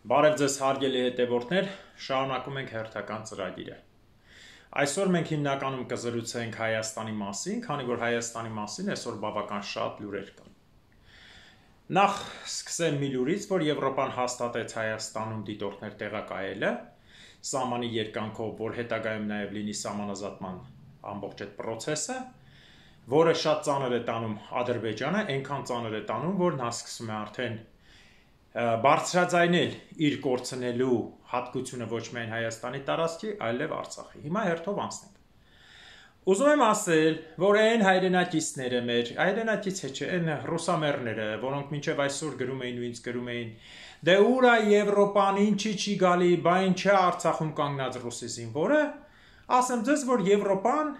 Բարև ձեզ հարգելի հետևորդներ, շարունակում ենք հերթական ծրագիրը։ Այսօր մենք հիմնականում կզրուցենք Հայաստանի մասին, քանի որ Հայաստանի մասին այսօր բավական շատ լուրեր կան։ Նախ սկսեմ մի լուրից, որ Եվրոպան հաստատեց Հայաստանում դիտորդներ տեղակայելը, սահմանի երկանքով, որ հետագայում նաև լինի սահմանազատման ամբողջ այդ process-ը, որը շատ ծանր է տանում Ադրբեջանը, այնքան ծանր է տանում, որ նա սկսում է արդեն բարձրաձայնել իր կորցնելու հատկությունը ոչ միայն Հայաստանի տարածքի, այլև Արցախի։ Հիմա հերթով անցնենք։ Ուզում եմ ասել, որ այն հայրենակիցները մեր, հայրենակից չէ, այն ռուսամերները, որոնք մինչև այսօր գրում էին ու ինձ գրում էին, դե ուր է Եվրոպան, ինչի չի գալի, բա ինչ է Արցախում կանգնած ռուսի զինվորը, ասեմ ձեզ, որ Եվրոպան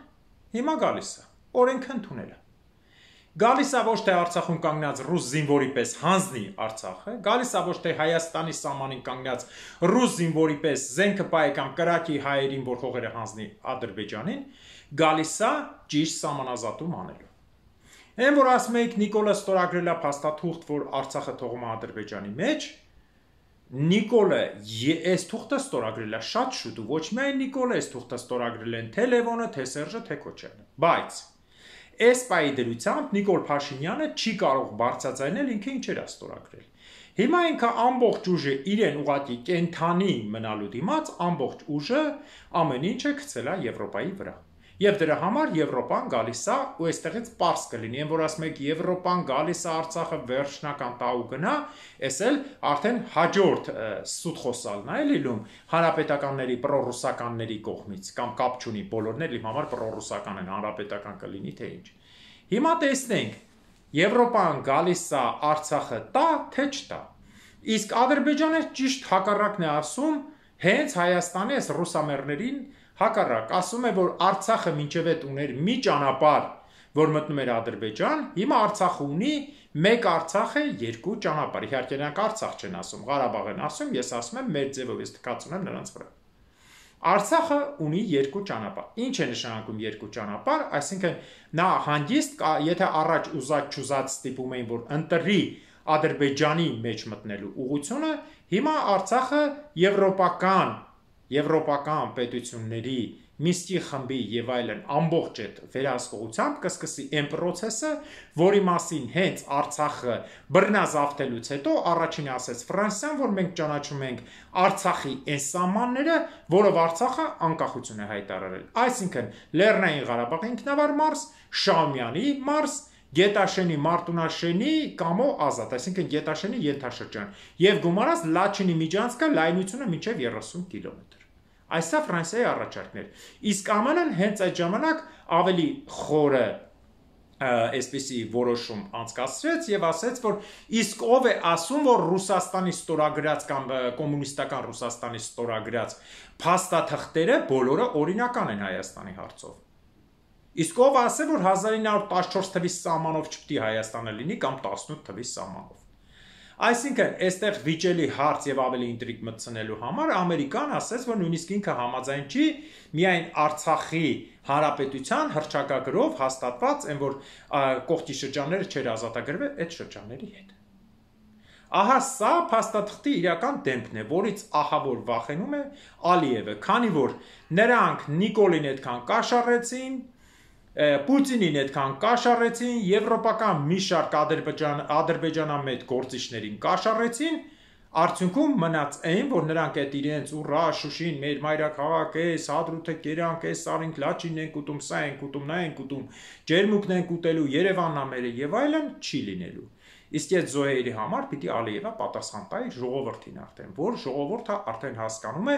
հիմա գալիս է, օրենքը ընդունել է։ Գալիս է ոչ թե Արցախում կանգնած ռուս զինվորի պես հանձնի Արցախը, գալիս է ոչ թե Հայաստանի սահմանին կանգնած ռուս զինվորի պես զենքը պահի կամ կրակի հայերին, որ հողերը հանձնի Ադրբեջանին, գալիս է ճիշտ սահմանազատում անելու։ Այն որ ասում եք Նիկոլը ստորագրել է փաստաթուղթ, որ Արցախը թողում է Ադրբեջանի մեջ, Նիկոլը այս թուղթը ստորագրել է շատ շուտ ու ոչ միայն Նիկոլը այս թուղթը ստորագրել են թե Լևոնը, թե Սերժը, թե Քոչարյանը, բայց Այս պայի դրությամբ Նիկոլ Փաշինյանը չի կարող բարձրաձայնել ինքը ինչեր է ստորագրել։ Հիմա ինքը ամբողջ ուժը իրեն ուղղակի կենթանի մնալու դիմաց ամբողջ ուժը ամեն ինչը գցել է Եվրոպայի վրա։ Եվ դրա համար Եվրոպան գալիս է ու այստեղից պարզ կլինի, այն որ ասում եք Եվրոպան գալիս է Արցախը վերջնական տա ու գնա, այս էլ արդեն հաջորդ սուտ խոսալն է լինում հանրապետականների պրոռուսականների կողմից կամ կապ չունի բոլորն էլ իմ համար պրոռուսական են, հանրապետական կլինի թե ինչ։ Հիմա տեսնենք Եվրոպան գալիս է Արցախը տա թե չտա։ Իսկ Ադրբեջանը ճիշտ հակառակն է ասում հենց Հայաստանի այս ռուսամերներին հակառակ, ասում է, որ Արցախը մինչև այդ ուներ մի ճանապարհ, որ մտնում էր Ադրբեջան, հիմա Արցախը ունի մեկ Արցախ է, երկու ճանապարհ։ Իհարկե նրանք Արցախ չեն ասում, Ղարաբաղ են ասում, ես ասում եմ մեր ձևով, ես թքած ունեմ նրանց վրա։ Արցախը ունի երկու ճանապարհ։ Ինչ է նշանակում երկու ճանապարհ, այսինքն նա հանգիստ, եթե առաջ ուզած ստիպում էին, որ ընտրի Ադրբեջանի մեջ մտնելու ուղղությունը, հիմա Արցախը եվրոպական պետությունների Միսկի խմբի եւ այլն ամբողջ այդ վերահսկողությամբ կսկսի այն process-ը, որի մասին հենց Արցախը բռնազավթելուց հետո առաջինը ասեց Ֆրանսիան, որ մենք ճանաչում ենք Արցախի այն սահմանները, որով Արցախը անկախություն է հայտարարել։ Այսինքն Լեռնային Ղարաբաղի ինքնավար մարզ, Շահումյանի մարզ, Գետաշենի, Մարտունաշենի կամո ազատ, այսինքն Գետաշենի ենթաշրջան եւ գումարած Լաչինի միջանցքը լայնությունը մինչեւ 30 կիլոմետր։ Այսա Ֆրանսիայի առաջարկներ։ Իսկ ԱՄՆ-ն հենց այդ ժամանակ ավելի խորը այսպիսի որոշում անցկացրեց եւ ասեց, որ իսկ ով է ասում, որ Ռուսաստանի ստորագրած կամ կոմունիստական Ռուսաստանի ստորագրած փաստաթղթերը բոլորը օրինական են Հայաստանի հարցով։ Իսկ ով ասել, որ 1914 թվի սահմանով չպետք է Հայաստանը լինի կամ 18 թվի սահմանով։ Այսինքն, այստեղ վիճելի հարց եւ ավելի ինտրիգ մտցնելու համար Ամերիկան ասեց, որ նույնիսկ ինքը համաձայն չի միայն Արցախի հանրապետության հռչակագրով հաստատված, այն որ կողքի շրջանները չեր ազատագրվել այդ շրջանների հետ։ Ահա սա փաստաթղթի իրական դեմքն է, որից ահա որ վախենում է Ալիևը, քանի որ նրանք Նիկոլին այդքան կաշառեցին, Պուտինին այդքան կաշառեցին, եվրոպական մի շարք ադրբեջանամետ գործիչներին կաշառեցին, արդյունքում մնաց այն, որ նրանք այդ իրենց ուռա Շուշին, մեր մայրաքաղաք է, Հադրութը կերանք է, Սարինք Լաչինն ենք ուտում, սա ենք ուտում, նա ենք ուտում, ջերմուկն ենք ուտելու, Երևանն է մերը եւ այլն չի լինելու։ Իսկ այդ զոհերի համար պիտի Ալիևը պատասխան տա իր ժողովրդին արդեն, որ ժողովուրդը արդեն հասկանում է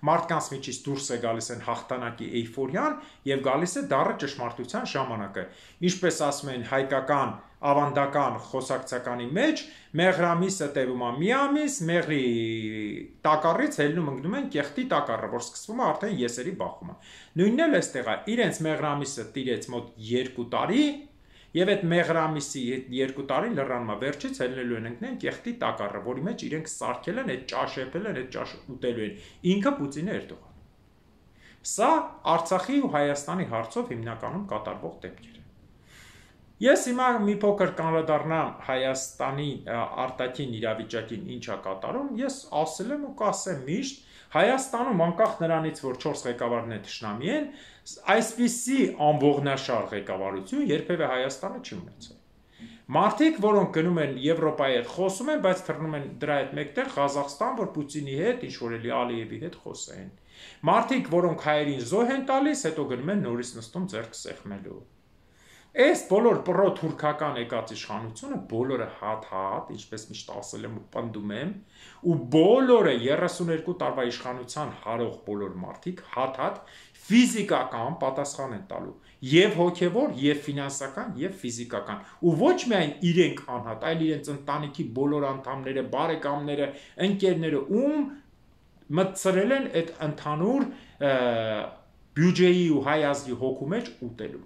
մարդկանց միջից դուրս է գալիս են հաղթանակի էյֆորիան եւ գալիս է դառը ճշմարտության ժամանակը։ Ինչպես ասում են հայկական ավանդական խոսակցականի մեջ, մեղրամիսը տևում է մի ամիս, մեղրի տակառից ելնում ընկնում են կեղտի տակառը, որ սկսվում է արդեն եսերի բախումը։ Նույնն էլ էստեղ է, իրենց մեղրամիսը տիրեց մոտ 2 տարի Եվ այդ մեղրամիսի 2 տարի լռանմա վերջից ելնելու են ընկնեն կեղտի տակառը, որի մեջ իրենք սարքել են, այդ ճաշեպել են, այդ ճաշը ուտելու են։ Ինքը Պուտինը Էրդողանը։ Սա Արցախի ու Հայաստանի հարցով հիմնականում կատարվող դեպքեր են։ Ես հիմա մի փոքր կանրադառնամ Հայաստանի արտաքին իրավիճակին ինչա կատարում, ես ասել եմ ու կասեմ միշտ, Հայաստանում անկախ նրանից, որ 4 ղեկավարներ թշնամի են, այսպիսի անողնաշար ղեկավարություն երբևէ Հայաստանը չի ունեցել։ Մարդիկ, որոնք գնում են Եվրոպայի հետ խոսում են, բայց թռնում են դրա հետ մեկտեղ Ղազախստան, որ Պուտինի հետ, ինչ որ էլի Ալիևի հետ խոսեն։ Մարդիկ, որոնք հայերին զոհ են տալիս, հետո գնում են նորից նստում ձեռք սեղմելու։ Այս բոլոր պրո-թուրքական եկած իշխանությունը բոլորը հատ-հատ, ինչպես միշտ ասել եմ ու պնդում եմ, ու բոլորը 32 տարվա իշխանության հարող բոլոր մարդիկ հատ-հատ ֆիզիկական պատասխան են տալու, եւ հոգեվոր, եւ ֆինանսական, եւ ֆիզիկական, ու ոչ միայն իրենք անհատ, այլ իրենց ընտանիքի բոլոր անդամները, բարեկամները, ընկերները, ում մտցրել են այդ ընդհանուր բյուջեի ու հայ ազգի հոգու մեջ ուտելու։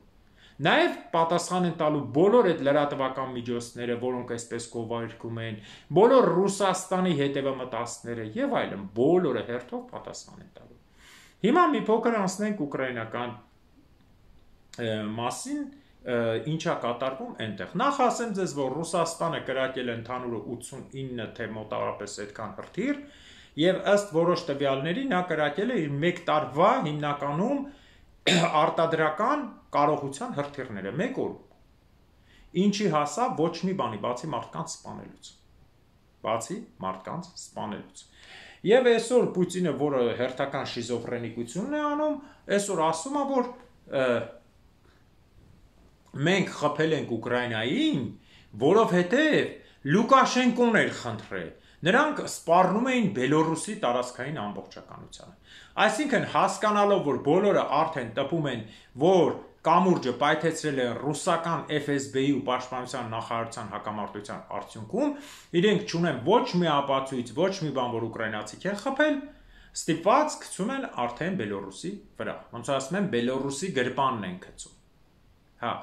Նաև պատասխան են տալու բոլոր այդ լրատվական միջոցները, որոնք այսպես գովերգում են, բոլոր Ռուսաստանի հետևամտածները եւ այլն, բոլորը հերթով պատասխան են տալու։ Հիմա մի փոքր անցնենք ուկրաինական մասին, ինչա կատարվում այնտեղ։ Նախ ասեմ ձեզ, որ Ռուսաստանը կրակել է ընդհանուրը 89 թե մոտավորապես այդքան հրթիռ, եւ ըստ որոշ տվյալների նա կրակել է իր 1 տարվա հիմնականում արտադրական կարողության հրթիռները 1 օր, ինչի հասավ ոչ մի բանի, բացի մարդկանց սպանելուց, եւ այսօր Պուտինը, որը հերթական շիզոֆրենիկությունն է անում, այսօր ասում է, որ մենք խփել ենք Ուկրաինային, որովհետեւ Լուկաշենկոն էր խնդրել, նրանք սպառնում էին Բելորուսի տարածքային ամբողջականությանը։ Այսինքն հասկանալով, որ բոլորը արդեն տպում են, որ կամուրջը պայթեցրել է ռուսական FSB-ի ու պաշտպանության նախարարության հակամարտության արդյունքում, իրենք չունեն ոչ մի ապացույց, ոչ մի բան, որ ուկրաինացիք են խփել, ստիպված գցում են արդեն Բելորուսի վրա։ Ոնց ասում են, Բելորուսի գրպանն են գցում։ Հա։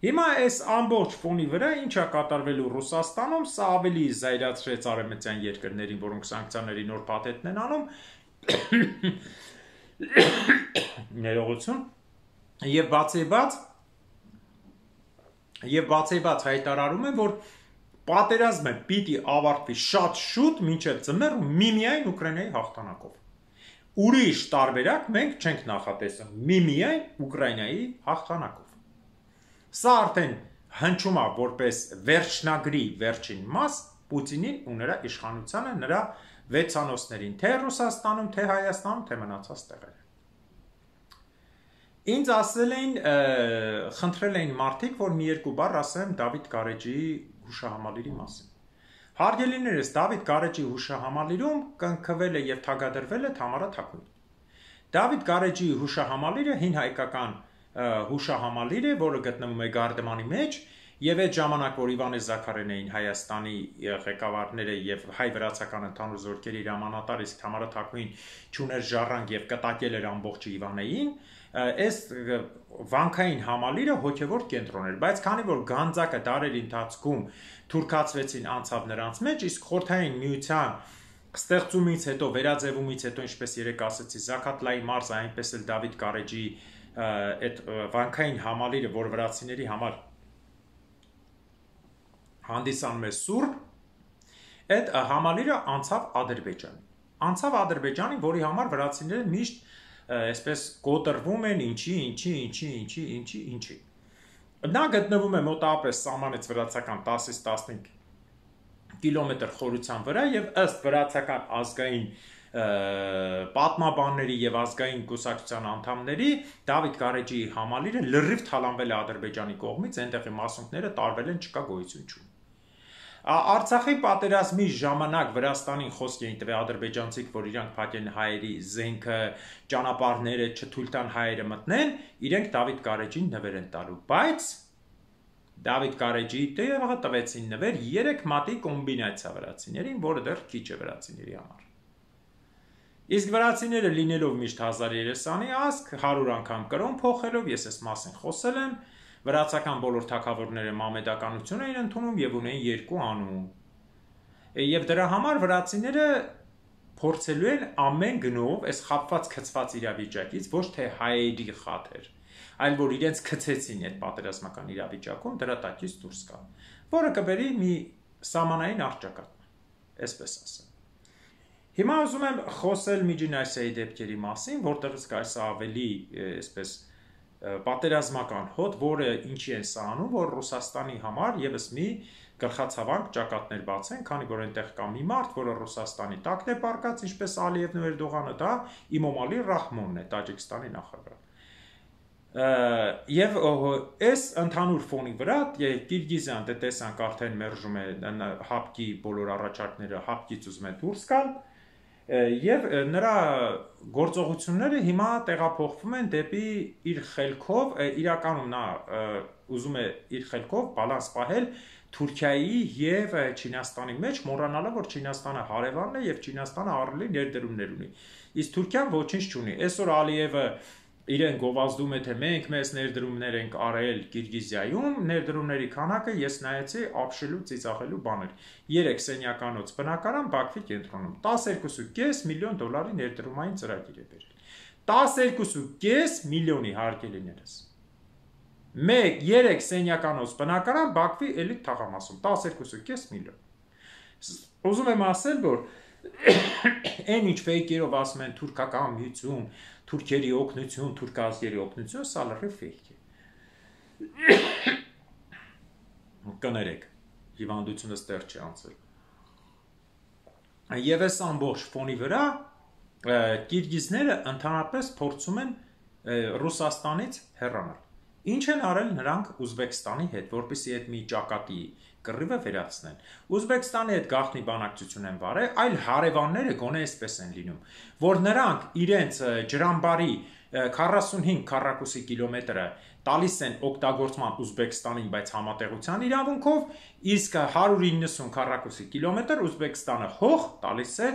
Հիմա այս ամբողջ ֆոնի վրա ինչա կատարվելու Ռուսաստանում, սա ավելի զայրացրեց արևմտյան երկրներին, որոնք սանկցիաների նոր փաթեթն են անում, ներողություն, եւ բացի բաց հայտարարում են, որ պատերազմը պիտի ավարտվի շատ շուտ, մինչև ձմեռ, միմիայն Ուկրաինայի հաղթանակով։ Ուրիշ տարբերակ մենք չենք նախատեսում, միմիայն Ուկրաինայի հաղթանակով։ Սա արդեն հնչում է որպես վերջնագրի վերջին մաս Պուտինին ու նրա իշխանությանը, նրա վեցանոցներին, թե Ռուսաստանում, թե Հայաստանում, թե մնացած տեղերը։ Ինձ ասել էին, խնդրել էին մարդիկ, որ մի երկու բառ ասեմ Դավիթ Գարեջիի հուշահամալիրի մասին։ Հարգելիներս, Դավիթ Գարեջիի հուշահամալիրում կնքվել է եւ թագադրվել է Թամարա Թակունին։ Դավիթ Գարեջիի հուշահամալիրը հին հայկական հուշահամալիր է, որը գտնվում է Գարդեմանի մեջ, եւ այդ ժամանակ, որ Իվանե Զաքարեն էին Հայաստանի ղեկավարները եւ հայ-վրացական ընդհանուր զորքերի հրամանատար, իսկ Թամարա Թակուին ճուներ ժառանգ եւ կտակել էր ամբողջ Իվանեին, այս վանքային համալիրը հոգևոր կենտրոն էր, բայց քանի որ Գանձակը դարերի ընթացքում թուրքացվեցին անցավ նրանց մեջ, իսկ Խորհրդային Միության ստեղծումից հետո, վերաձևումից հետո, ինչպես երեք ասեցի, Զաքաթլայի մարզը, այնպես էլ Դավիթ Գարեջիի այդ վանքային համալիրը, որ վրացիների համար հանդիսանում է սուրբ, այդ համալիրը անցավ Ադրբեջանի, որի համար վրացիները միշտ այսպես կոտրվում են ինչի։ Նա գտնվում է մոտավորապես սահմանից վրացական 10-ից 15 կիլոմետր խորության վրա եւ ըստ վրացական ազգային պատմաբանների եւ ազգային կուսակցության անդամների Դավիթ Գարեջիի համալիրը լրիվ թալանվել է Ադրբեջանի կողմից, այնտեղի մասունքները տարվել են, չկա գոյություն չունի։ Արցախի պատերազմի ժամանակ Վրաստանին խոսք էին տվել ադրբեջանցիք, որ իրանք փակեն հայերի զենքը, ճանապարհները չթույլ տան հայերը մտնեն, իրենք Դավիթ Գարեջին նվեր են տալու, բայց Դավիթ Գարեջիի տեղը տվեցին նվեր 3 մատի կոմբինացիա վրացիներին, որը դեռ քիչ է վրացիների համար։ Իսկ վրացիները լինելով միշտ 1300-ի ազգ, 100 անգամ կրոն փոխելով, ես այս մասին խոսել եմ, վրացական բոլոր թագավորները մամեդականություն էին ընդունում եւ ունեին 2 անուն։ Եվ դրա համար վրացիները փորձելու են ամեն գնով այս խապված քծված իրավիճակից ոչ թե հայերի խաթեր, այլ որ իրենց գցեցին այդ պատերազմական իրավիճակում, դրա տակից դուրս գա, որը կբերի մի սահմանային առճակատման, այսպես ասեմ։ Հիմա ուզում եմ խոսել Միջին Ասիայի դեպքերի մասին, որտեղից կայս ավելի, այսպես պատերազմական հոտ, որը ինչի են սա անում, որ Ռուսաստանի համար եւս մի գլխացավանք ճակատներ բացեն, քանի որ այնտեղ կա մի մարդ, որը Ռուսաստանի տակն է պարկած, ինչպես Ալիևն ու Էրդողանը, դա Իմոմալի Ռահմոնն է, Տաջիկստանի նախագահ։ Եվ այս ընդհանուր ֆոնի վրա Կիրգիզիան դե տեսանք արդեն մերժում է հապկի բոլոր առաջարկները, հապկից ուզում է դուրս գալ, եւ նրա գործողությունները հիմա տեղափոխվում են դեպի իր խելքով, իրականում նա ուզում է իր խելքով բալանս պահել Թուրքիայի եւ Չինաստանի մեջ, մոռանալով որ Չինաստանը հարևանն է եւ Չինաստանը ահռելի ներդրումներ ունի։ Իսկ Թուրքիան ոչինչ չունի։ Այսօր Ալիևը իրեն գովազդում է, թե մենք մեծ ներդրումներ ենք արել Կիրգիզիայում, ներդրումների քանակը ես նայեցի ապշելու ծիծաղելու բաներ։ 3 սենյականոց բնակարան Բաքվի կենտրոնում 12.5 միլիոն դոլարի ներդրումային ծրագիր է բերել։ 12.5 միլիոնի հարկելիներս։ 3 սենյականոց բնակարան Բաքվի էլիտ թաղամասում 12.5 միլիոն։ Ուզում եմ ասել, որ այն ինչ ֆեյքերով ասում են թուրքական միություն, թուրքերի օգնություն, թուրքազգերի օգնություն, սա լրիվ ֆեյք է։ Կներեք, հիվանդությունը ստեղ չի անցել։ Եվ այս ամբողջ ֆոնի վրա կիրգիզները ընդհանրապես փորձում են Ռուսաստանից հեռանալ։ Ինչ են արել նրանք Ուզբեկստանի հետ, որպեսզի այդ մի ճակատի կռիվը վերացնեն։ Ուզբեկստանի հետ գաղտնի բանակցություն են վարել, այլ հարևանները գոնե այսպես են լինում, որ նրանք իրենց ջրամբարի 45 քառակուսի կիլոմետրը տալիս են օգտագործման Ուզբեկստանին, բայց համատեղության իրավունքով, իսկ 190 քառակուսի կիլոմետր Ուզբեկստանը հող տալիս է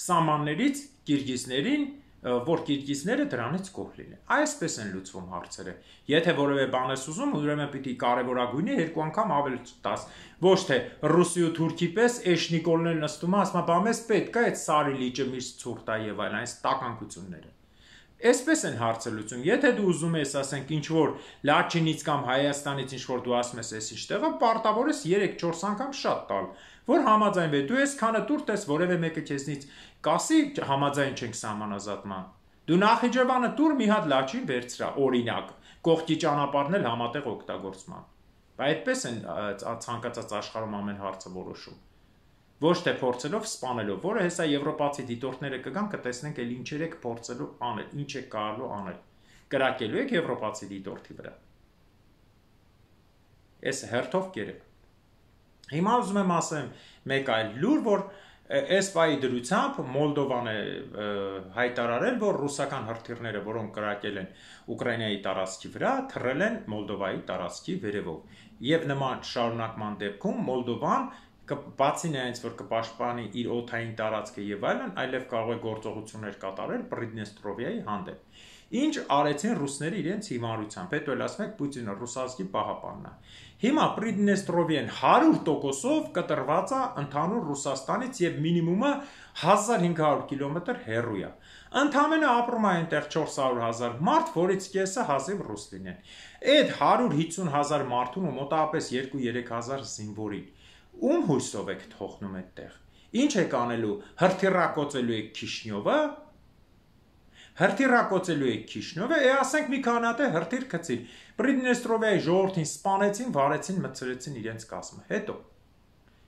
սահմաններից կիրգիզներին, որ կիրգիզները դրանից գոհ լինեն։ Այսպես են լուծվում հարցերը։ Եթե որևէ բան ես ուզում, ուրեմն պիտի կարևորագույնի 2 անգամ ավել տաս։ Ոչ թե ռուսի ու թուրքի պես էշնիկոլներ նստում, ասում են, բա մեզ պետք է այդ սարի լիճը միշտ ցուրտ է եւ այլն, այս տականքությունները։ Այսպես են հարցը լուծում։ Եթե դու ուզում ես, ասենք, ինչ որ Լաչինից կամ Հայաստանից ինչ որ դու ասում ես, այս ինչտեղը պարտավոր ես 3-4 անգամ շատ տալ, որ համաձայնվի։ Դու այսքանը տուր տես որևէ մեկը քեզնից կասի համաձայն չենք սահմանազատման։ Դու Նախիջևանը տուր մի հատ Լաչին վերցրա, օրինակ, կողքի ճանապարհն էլ համատեղ օգտագործման։ Բայց այդպես են ցանկացած աշխարհում ամեն հարցը որոշում։ Ոչ թե փորձելով սպանելով, որը հեսա եվրոպացի դիտորդները կգան, կտեսնենք էլ ինչեր եք փորձելու անել, ինչ է կարելու անել։ Կրակելու եք եվրոպացի դիտորդի վրա։ Այս հերթով կերեք։ Հիմա ուզում եմ ասեմ մեկ այլ լուր, որ այս պայի դրությամբ Մոլդովան է հայտարարել, որ ռուսական հրթիռները, որոնք կրակել են Ուկրաինայի տարածքի վրա, թռել են Մոլդովայի տարածքի վերևով։ Եվ նման շարունակման դեպքում Մոլդովան բացի նրանից, որ կպաշտպանի իր օդային տարածքը եւ այլն, այլև կարող է գործողություններ կատարել Պրիդնեստրովիայի հանդեպ։ Ինչ արեցին ռուսները իրենց հիմարությամբ, հետո էլ ասում եք Պուտինը ռուսազգի պահապանն է։ Հիմա Պրիդնեստրովիան 100%-ով կտրված է ընդհանուր Ռուսաստանից եւ մինիմումը 1500 կիլոմետր հեռու է։ Ընդամենը ապրում է այնտեղ 400,000 մարդ, որից կեսը հազիվ ռուս լինեն։ Այդ 150,000 մարդուն ու մոտավորապես 2-3000 զինվորին ում հույսով եք թողնում այդտեղ։ Ինչ եք անելու, հրթիռակոծելու եք Քիշնյովը։ Հրթիռակոծելու եք Քիշնյովը, ասենք մի քանի հատ հրթիռ գցին։ Պրիդնեստրովիայի ժողովրդին սպանեցին, վարեցին, մտցրեցին իրենց կազմը։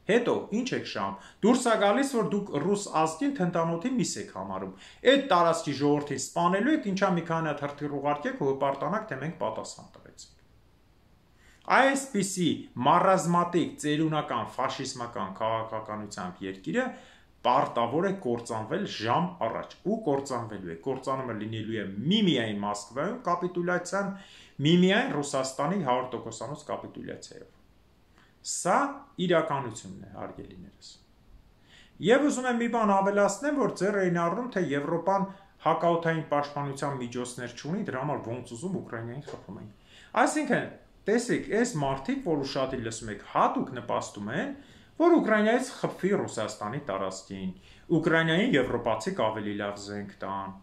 Հետո ինչ եք շահում։ Դուրս է գալիս, որ դուք ռուս ազգին թնդանոթի միս եք համարում։ Այդ տարածքի ժողովրդին սպանելու եք, ինչա մի քանի հատ հրթիռ ուղարկեք ու հպարտանաք, թե մենք պատասխան տվեցինք։ Այսպիսի մարազմատիկ ծերունական ֆաշիզմական քաղաքականությամբ երկիրը պարտավոր է կործանվել ժամ առաջ ու կործանվելու է։ Կործանումը լինելու է միմիայն Մոսկվայում կապիտուլյացիան, միմիայն Ռուսաստանի 100%-անոց կապիտուլյացիայով։ Սա իրականությունն է, հարգելիներս։ Եվ ուզում եմ մի բան ավելացնեմ, որ ձեռ էին առնում, թե Եվրոպան հակաօդային պաշտպանության միջոցներ չունի, դրա համար ոնց ուզում Ուկրաինային խփում են։ Այսինքն տեսեք, այս մարդիկ, որ ուշադիր լսում եք, հատուկ նպաստում են, որ Ուկրաինայից խփվի Ռուսաստանի տարածքին, Ուկրաինային եվրոպացիք ավելի լավ զենք տան։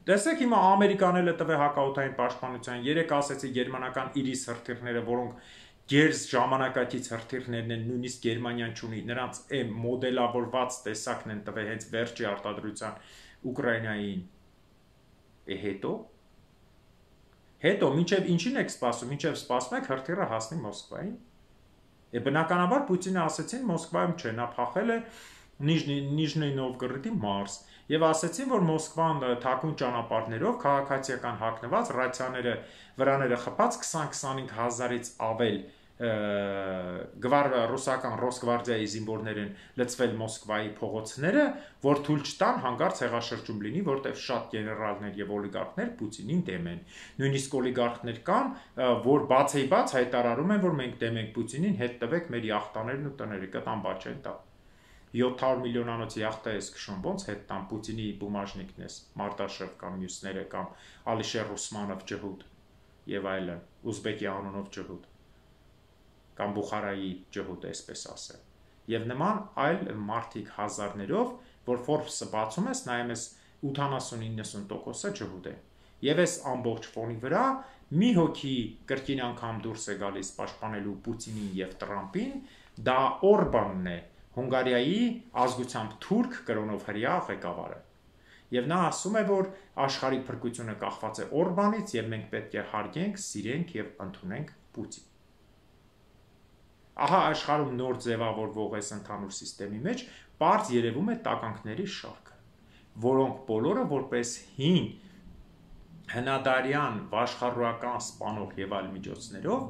Տեսեք հիմա Ամերիկան էլ տվե հակաօդային պաշտպանության, երեք ասեցի գերմանական Իրիս հրթիռները, որոնք գերզ ժամանակակից հրթիռներն են, նույնիսկ Գերմանիան չունի, նրանց այն մոդելավորված տեսակն են տվել հենց վերջի արտադրության Ուկրաինային։ Հետո մինչև ինչին եք սպասում, մինչև սպասում եք հրթիռը հասնի Մոսկվային։ Բնականաբար Պուտինը ասեցին Մոսկվայում չէ, նա փախել է Նիժնի Նովգորոդի մարզ եւ ասեցին, որ Մոսկվան թաքուն ճանապարհներով քաղաքացիական հագնված ռացիաները վրաները խփած 20-25 հազարից ավել ռուսական Ռոսգվարդիայի զինվորներ են լցվել Մոսկվայի փողոցները, որ թույլ չտան հանկարծ հեղաշրջում լինի, որտեղ շատ գեներալներ եւ օլիգարխներ Պուտինին դեմ են։ Նույնիսկ օլիգարխներ կան, որ բաց հայտարարում են, որ մենք դեմ ենք Պուտինին, հետ տվեք մեր յախտաներն ու տները, կտան բաց չեն տա։ 700 միլիոնանոց յախտա ես քշում, ոնց հետ տան Պուտինի բումաժնիկն ես, Մարտաշև կամ մյուսները կամ Ալիշեր Ուսմանով ջհուդ եւ այլն, Ուզբեկի անունով ջհուդ կամ Բուխարայի ջհուդ, այսպես ասեմ։ Եվ նման այլ մարդիկ հազարներով, որ Forbes-ը բացում ես, նայում ես 80-90%-ը ջհուդ է։ Եվ այս ամբողջ ֆոնի վրա մի հոգի կրկին անգամ դուրս է գալիս պաշտպանելու Պուտինին եւ Տրամպին, դա Օրբանն է, Հունգարիայի ազգությամբ թուրք կրոնով հրեա ղեկավարը։ Եվ նա ասում է, որ աշխարհի փրկությունը կախված է Օրբանից եւ մենք պետք է հարգենք, սիրենք եւ ընդունենք Պուտին։ Ահա աշխարհում նոր ձևավորվող այս ընդհանուր համակարգի մեջ բարձ երևում է տականքների շարքը, որոնք բոլորը որպես հին հնադարյան վաշխառուական սպանող եւ այլ միջոցներով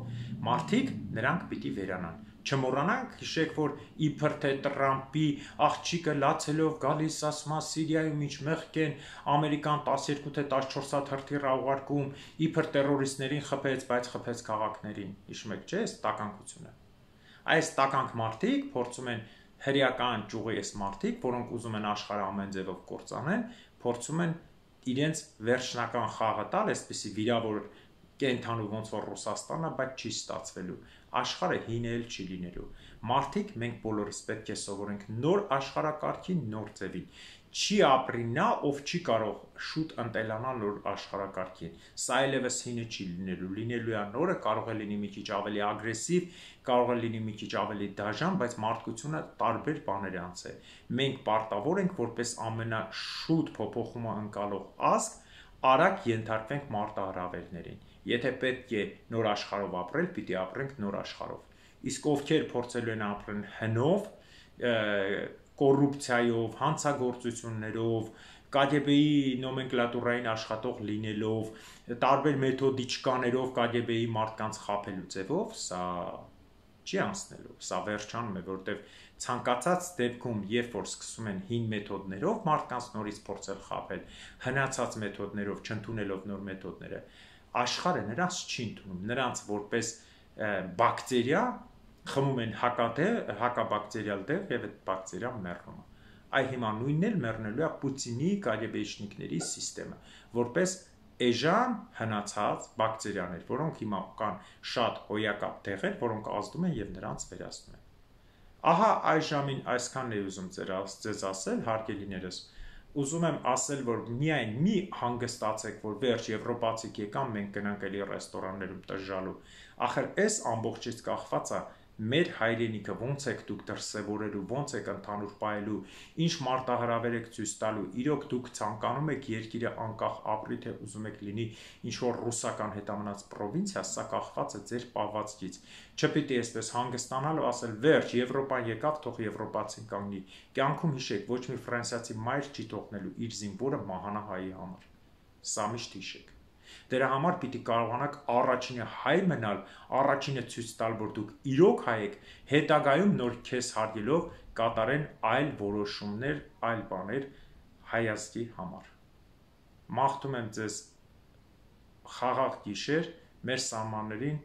մարդիկ նրանք պիտի վերանան։ Չմոռանանք, հիշեք, որ իբր թե Տրամպի աղջիկը լացելով գալիս ասում է Սիրիայում ինչ մեղք են, Ամերիկան 12 թե 14 հատ հրթիռ ուղարկում, իբր տերորիստներին խփեց, բայց խփեց քաղաքներին։ Հիշում եք, չէ՞, այս տականքությունը։ Այս տականք մարդիկ փորձում են հրեական ճյուղի այս մարդիկ, որոնք ուզում են աշխարհը ամեն ձևով կործանեն, փորձում են իրենց վերջնական խաղը տալ, այսպեսի վիրավոր կենթանու ոնց որ Ռուսաստանը, բայց չի ստացվելու։ Աշխարհը հինել չի լինելու։ Մարդիկ մենք բոլորս պետք է սովորենք նոր աշխարհակարգին, նոր ձևին։ Չի ապրի նա, ով չի կարող շուտ ընտելանալ նոր աշխարհակարգին։ Սա այլևս հինը չի լինելու։ Լինելու է նորը, կարող է լինի մի քիչ ավելի ագրեսիվ, կարող է լինի մի քիչ ավելի դաժան, բայց մարդկությունը տարբեր բաներ անցել։ Մենք պարտավոր ենք որպես ամենաշուտ փոփոխումը ընկալող ազգ արագ ենթարկվենք մարտահրավերներին։ Եթե պետք է նոր աշխարհով ապրել, պիտի ապրենք նոր աշխարհով։ Իսկ ովքեր փորձելու են ապրել հնով, կոռուպցիայով, հանցագործություններով, KGB-ի նոմենկլատուրային աշխատող լինելով, տարբեր մեթոդիչկաներով KGB-ի մարդկանց խաբելու ձևով, սա չի անցնելու, սա վերջանում է, որտեղ ցանկացած դեպքում, երբ որ սկսում են հին մեթոդներով մարդկանց նորից փորձել խաբել, հնացած մեթոդներով, չընդունելով նոր մեթոդները, աշխարհը նրանց չի ընդունում, նրանց որպես բակտերիա խմում են հակաբակտերիալ դեղ եւ այդ բակտերիան մեռնում է։ Այ հիմա նույնն էլ մեռնելու է Պուտինի KGB-շնիկների համակարգը, որպես էժան հնացած բակտերիաներ, որոնք հիմա կան շատ հոյակապ տեղեր, որոնք ազդում են եւ նրանց վերացնում են։ Ահա այժմին այսքանն է ուզում ձեզ ասել, հարգելիներս, ուզում եմ ասել, որ միայն մի հանգստացեք, որ վերջ եվրոպացիք եկան, մենք գնանք էլի ռեստորաններում տժժալու։ Ախր այս ամբողջից կախված է մեր հայրենիքը ոնց եք դուք դրսևորելու, ոնց եք ընդհանուր պահելու, ինչ մարտահրավեր եք ցույց տալու, իրոք դուք ցանկանում եք երկիրը անկախ ապրի, թե ուզում եք լինի ինչ որ ռուսական հետամնաց պրովինցիա, սա կախված է ձեր պահվածքից։ Չպիտի այսպես հանգստանալ ու ասել վերջ Եվրոպան եկավ, թող եվրոպացին կանգնի։ Կյանքում հիշեք, ոչ մի ֆրանսիացի մայր չի թողնելու իր զինվորը մահանա հայի համար։ Սա միշտ հիշեք։ Դրա համար պիտի կարողանաք առաջինը հայ մնալ, առաջինը ցույց տալ, որ դուք իրոք հայ եք, հետագայում նոր քեզ հարգելով կատարեն այլ որոշումներ, այլ բաներ հայացքի համար։ Մաղթում եմ ձեզ խաղաղ գիշեր, մեր սահմաններին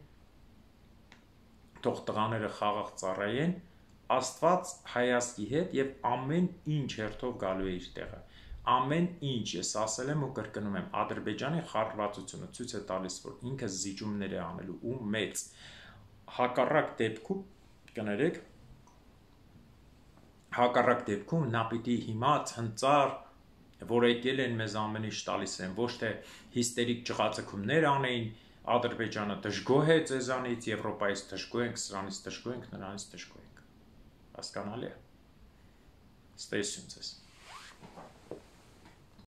թող տղաները խաղաղ ծառայեն, Աստված հայացքի հետ եւ ամեն ինչ հերթով գալու է իր տեղը։ Ամեն ինչ ես ասել եմ ու կրկնում եմ, Ադրբեջանի խառնվածությունը ցույց է տալիս, որ ինքը զիջումներ է անելու ու մեծ հակառակ դեպքում կներեք, հակառակ դեպքում նա պիտի հիմա ցնծար որ եկել են մեզ ամեն ինչ տալիս են, ոչ թե հիստերիկ ճղածքումներ անեին, Ադրբեջանը դժգոհ է ձեզանից, Եվրոպայից դժգոհ ենք, սրանից դժգոհ ենք, նրանից դժգոհ ենք։ Հասկանալի է։ Ստեսություն ձեզ։